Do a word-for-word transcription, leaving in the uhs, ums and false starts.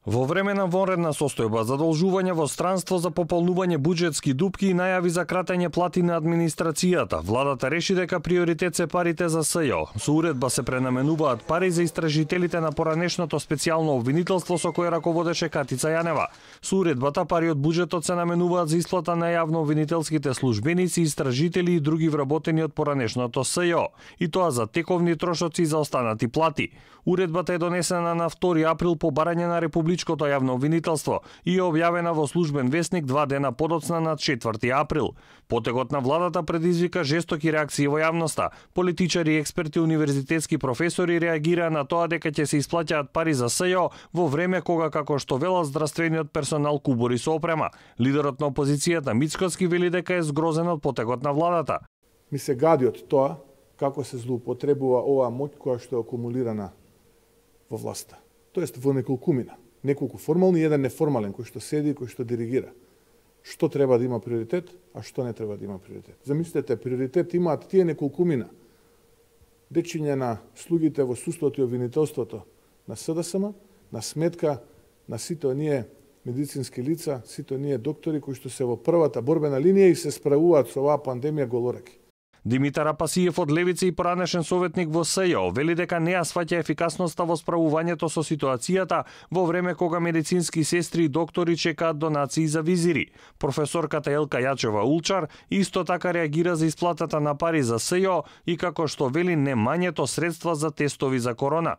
Во време на вонредна состојба, задолжување во странство за пополнување буџетски дупки и најави за кратење плати на администрацијата, владата реши дека приоритет се парите за СЈО. Со уредба се пренаменуваат пари за истражителите на поранешното специјално обвинителство со кое раководеше Катица Јанева. Со уредбата пари од буџетот се наменуваат за исплата на јавно обвинителските службеници, истражители и други вработени од поранешното СЈО, и тоа за тековни трошоци и за останати плати. Уредбата е донесена на втори април по барање на Републичкото јавно обвинителство и е објавена во Службен весник два дена подоцна на четврти април. Потегот на владата предизвика жестоки реакции во јавноста. Политичари, експерти, универзитетски професори реагираа на тоа дека ќе се исплаќаат пари за СЈО во време кога, како што велат, здравствениот персонал кубори со опрема. Лидерот на опозицијата Мицкоски вели дека е згрозен од потегот на владата. Ми се гади од тоа како се злоупотребува оваа моќ која што е акумулирана во власта. Тоест во неколкумина. Неколку формални и еден неформален кој што седи и кој што диригира. Што треба да има приоритет, а што не треба да има приоритет. Замислете, приоритет имаат тие неколкумина. Дечиње на слугите во судството и обвинителството на СДСМ, на сметка на сите оние медицински лица, сите оние доктори кои што се во првата борбена линија и се справуваат со оваа пандемија голораки. Димитар Апасиев од Левица и поранешен советник во СЈО вели дека не ја сваќа ефикасноста во справувањето со ситуацијата во време кога медицински сестри и доктори чекаат донации за визири. Професорката Елка Јачева Улчар исто така реагира за исплатата на пари за СЈО и како што вели немањето средства за тестови за корона.